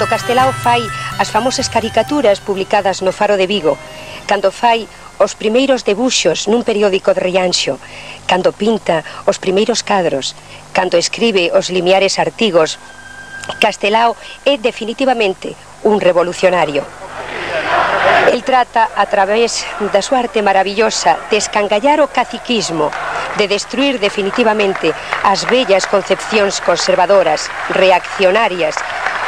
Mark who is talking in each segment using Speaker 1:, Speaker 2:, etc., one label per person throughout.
Speaker 1: Cando Castelao fai as famosas caricaturas publicadas no Faro de Vigo, cando fai os primeiros debuxos nun periódico de Rianxo, cando pinta os primeiros cadros, cando escribe os limiares artigos, Castelao é definitivamente un revolucionario. El trata, a través da súa arte maravillosa, de escangallar o caciquismo, de destruir definitivamente as vellas concepcións conservadoras, reaccionarias,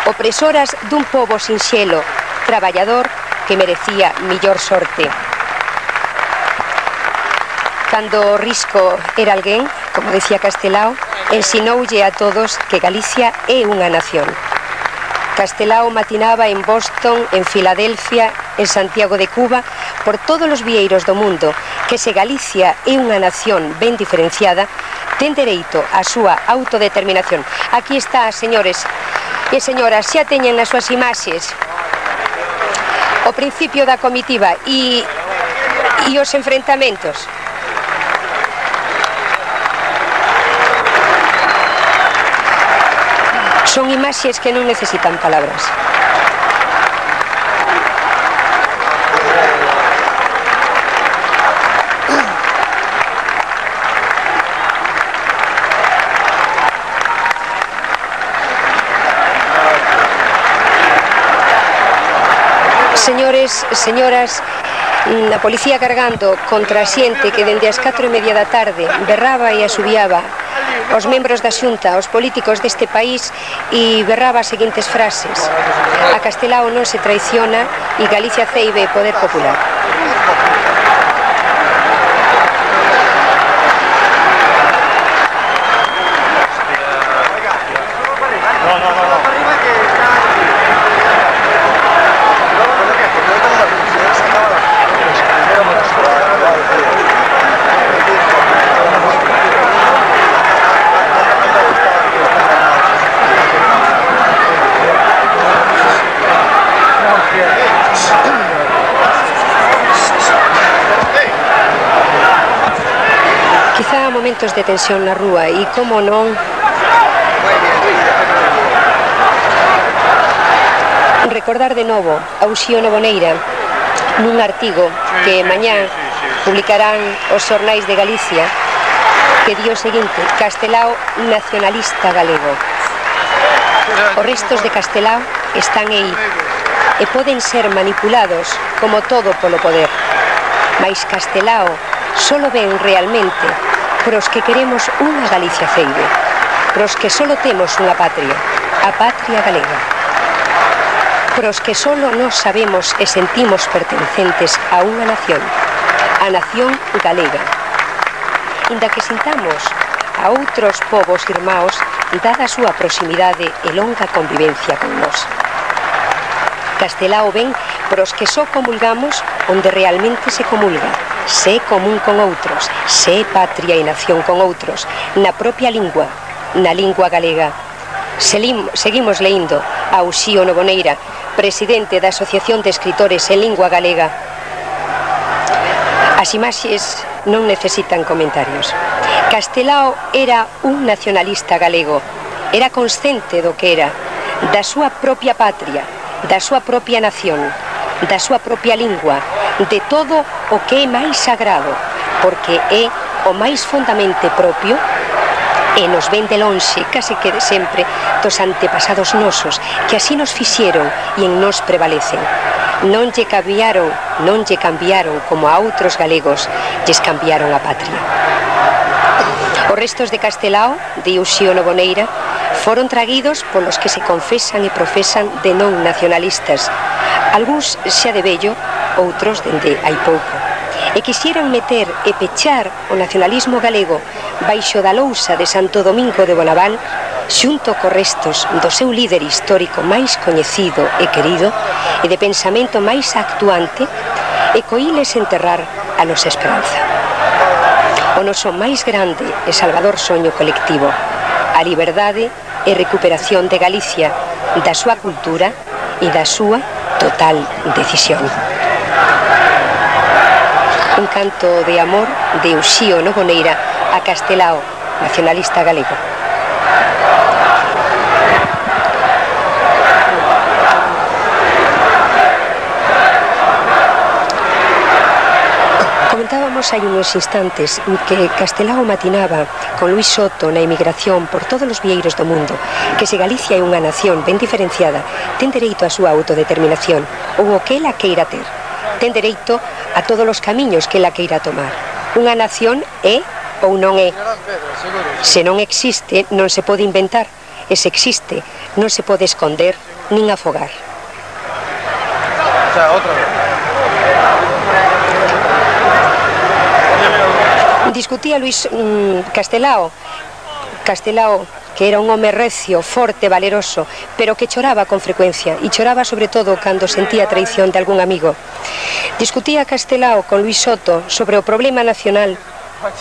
Speaker 1: opresoras dun pobo sinxelo, traballador, que merecía millor sorte. Cando o risco era alguén, como decía Castelao, ensinoulle a todos que Galicia é unha nación. Castelao matinaba en Boston, en Filadelfia, en Santiago de Cuba, por todos os vieiros do mundo, que se Galicia é unha nación ben diferenciada, ten dereito á súa autodeterminación. Aquí está, señores e señoras, xa teñen nas súas imaxes o principio da comitiva e os enfrentamentos. Son imaxes que non necesitan palabras. Señores, señoras, a policía cargando contra a xente que dende as 4:30 da tarde berraba e asubiaba os membros da Xunta, os políticos deste país, e berraba as seguintes frases: a Castelao non se traiciona e Galicia ceibe poder popular. Momentos de tensión na rúa e, como non, recordar de novo a Uxío Novoneira nun artigo que mañá publicarán os xornais de Galicia, que di o seguinte: Castelao nacionalista galego. Os restos de Castelao están aí e poden ser manipulados como todo polo poder, mais Castelao solo ven realmente pros que queremos unha Galicia ceibe, pros que solo temos unha patria, a patria galega, pros que solo nos sabemos e sentimos pertencentes a unha nación, a nación galega, inda que sintamos a outros povos irmãos dada a súa proximidade e longa convivencia con nós. Castelao ven pros que só comulgamos onde realmente se comulga, sé común con outros, sé patria e nación con outros, na propia lingua, na lingua galega. Seguimos leindo a Uxío Novoneira, presidente da Asociación de Escritores en Lingua Galega. As imaxes non necesitan comentarios. Castelao era un nacionalista galego, era consciente do que era, da súa propia patria, da súa propia nación, da súa propia lingua, de todo o que é máis sagrado, porque é o máis fondamente propio e nos ven de lonxe, case que de sempre, dos antepasados nosos, que así nos fixeron e en nos prevalecen. Non lle cambiaron como a outros galegos lles cambiaron a patria. Os restos de Castelao, de Uxío Novoneira, foron traguidos polos que se confesan e profesan de non nacionalistas, algúns xa de vello, outros dende hai pouco, e quixeran meter e pechar o nacionalismo galego baixo da lousa de Santo Domingo de Bonaval, xunto co restos do seu líder histórico máis coñecido e querido e de pensamento máis actuante, e coiles enterrar a nosa esperanza. O noso máis grande e salvador soño colectivo, a liberdade e recuperación de Galicia, da súa cultura e da súa total decisión. Un canto de amor de Uxío Novoneira a Castelao, nacionalista galego. Contábamos hai unos instantes que Castelao matinaba con Luis Soto na emigración por todos os vieiros do mundo que se Galicia é unha nación ben diferenciada ten dereito á súa autodeterminación ou o que ela queira ter. Ten dereito a todos os camiños que ela queira tomar. Unha nación é ou non é. Se non existe, non se pode inventar. E se existe, non se pode esconder nin afogar. Discutía Luis Castelao, que era un home recio, forte, valeroso, pero que choraba con frecuencia, e choraba sobre todo cando sentía a traición de algún amigo. Discutía Castelao con Luis Soto sobre o problema nacional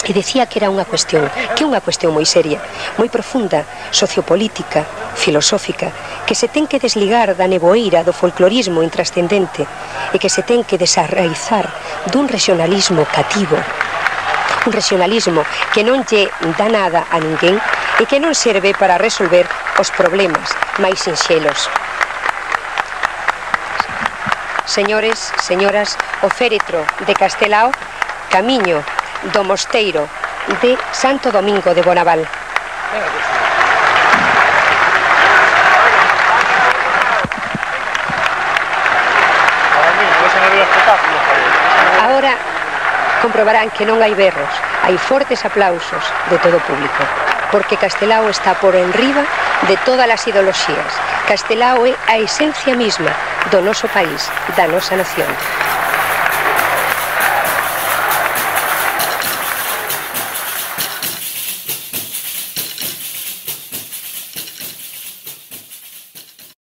Speaker 1: e decía que era unha cuestión moi seria, moi profunda, sociopolítica, filosófica, que se ten que desligar da neboeira do folclorismo intrascendente e que se ten que desarraizar dun regionalismo cativo, un regionalismo que non lle dá nada a ninguén e que non serve para resolver os problemas máis sinxelos. Señores, señoras, o féretro de Castelao, camiño do mosteiro de Santo Domingo de Bonaval. Ahora comprobarán que non hai berros, hai fortes aplausos de todo o público, porque Castelao está por enriba de todas as ideoloxías. Castelao é a esencia misma do noso país, da nosa nación.